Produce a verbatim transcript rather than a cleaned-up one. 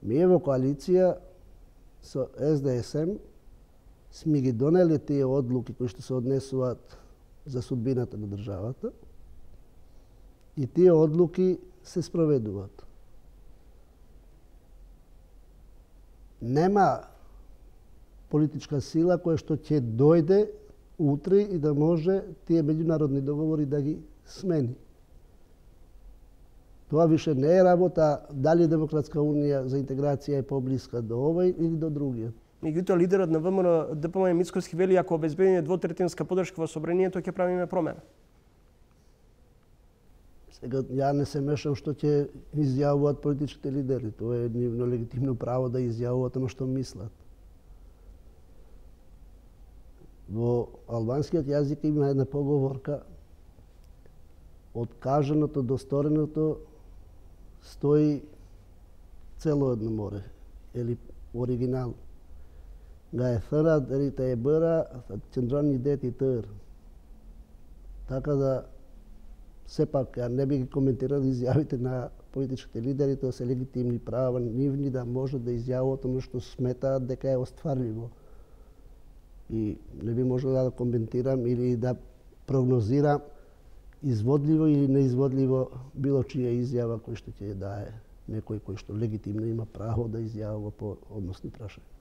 Ние во коалиција со С Д С М сме ги донели тие одлуки кои што се однесуваат за судбината на државата и тие одлуки се спроведуваат. Нема политичка сила која што ќе дојде утре и да може тие меѓународни договори да ги смени. Тоа више не е работа дали Демократска унија за интеграција е поблиска до овој или до другиот. Меѓутоа, лидерот на Вэ М Р Д П М Мицковски вели, ако обезбедиме двотретинска подршка во собранието, ќе правиме промена. Сега, ја не се мешам што ќе изјавуваат политичките лидери. Тоа е нивно легитимно право да изјавуваат оно што мислат. Во албанскиот јазик има една поговорка: од кажаното до стореното стои цело едно море, или оригинал. Га е фера, дерите е бъра, чендрони дети тър. Така да, сепак, ја не би ги коментирал изјавите на политичките лидери, тоа се легитимни права нивни да можат да изјавуваат оно што сметаат дека е остварливо. И не би можел да коментирам или да прогнозирам изводливо или неизводливо било чија изјава кој што ќе дае некој кој што легитимно има право да изјавува по односни прашања.